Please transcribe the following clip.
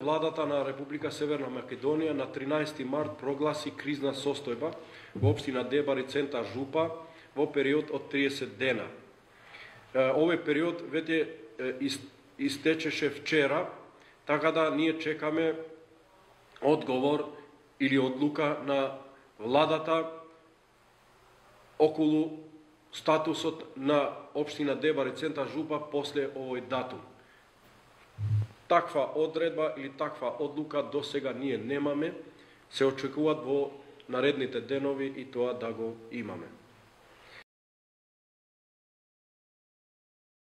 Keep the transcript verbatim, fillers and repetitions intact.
Владата на Република Северна Македонија на тринаесети март прогласи кризна состојба во општина Дебар и центар Жупа во период од триесет дена. Овој период веќе истечеше вчера, така да ние чекаме одговор или одлука на владата околу статусот на општина Дебар и центар Жупа после овој датум. Таква одредба или таква одлука до сега ние немаме, се очекуваат во наредните денови и тоа да го имаме.